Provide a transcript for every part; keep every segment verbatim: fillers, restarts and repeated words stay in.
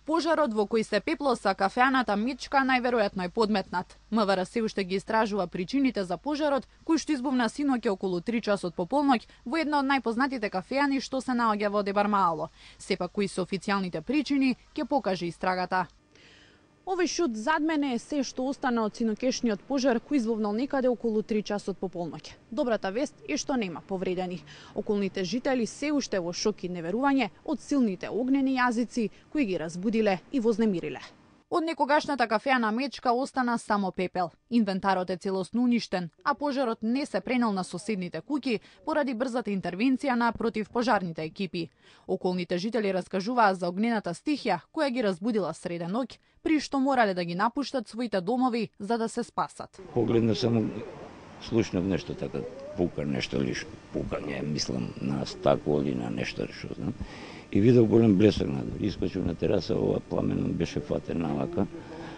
Пожарот во кој се пеплоса кафеаната мечка најверојатно е подметнат. МВР се уште ги истражува причините за пожарот, кој што избувна синоќа околу три часот по полноќ во една од најпознатите кафеани што се наоѓа во Дебармаало. Сепак кои се официјалните причини ќе покаже истрагата. Овој шут зад мене е се што остана од синокешниот пожар кој избувнал некаде околу три часот по полноќ. Добрата вест е што нема повредени. Околните жители се уште во шок и неверување од силните огнени јазици кои ги разбудиле и вознемириле. Од некогашната кафеана мечка остана само пепел. Инвентарот е целосно уништен, а пожарот не се пренел на соседните куќи поради брзата интервенција на противпожарните екипи. Околните жители раскажуваа за огнената стихија која ги разбудила среде ноќ, при што морале да ги напуштат своите домови за да се спасат. Погледна само, слушнав нешто така, пука нешто лиш, пукање, мислам на стакло или на нешто што знам. И видов голем блесак надвор. Искочив на тераса, ова пламен беше фатен навака.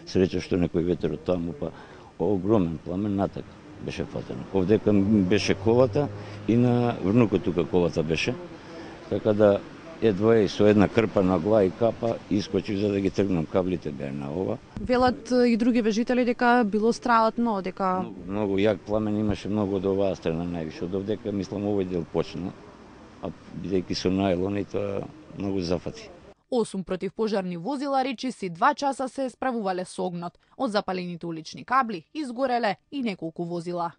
Среќа што некој ветер од таму, па огромен пламен натака беше фатен. Овдека беше колата и на внукот тука колата беше. Така да едва и со една крпа на глава и капа искочив за да ги тргнам каблите беа на ова. Велат и други вежители дека било страатно, дека Многу, многу јак пламен имаше многу од оваа страна највише. Од овдека мислам овој дел почна. А бидејќи со најлон и тоа многу зафати. Осум противпожарни возила речиси два часа се справувале со огнот. Од запалените улични кабли изгореле и неколку возила.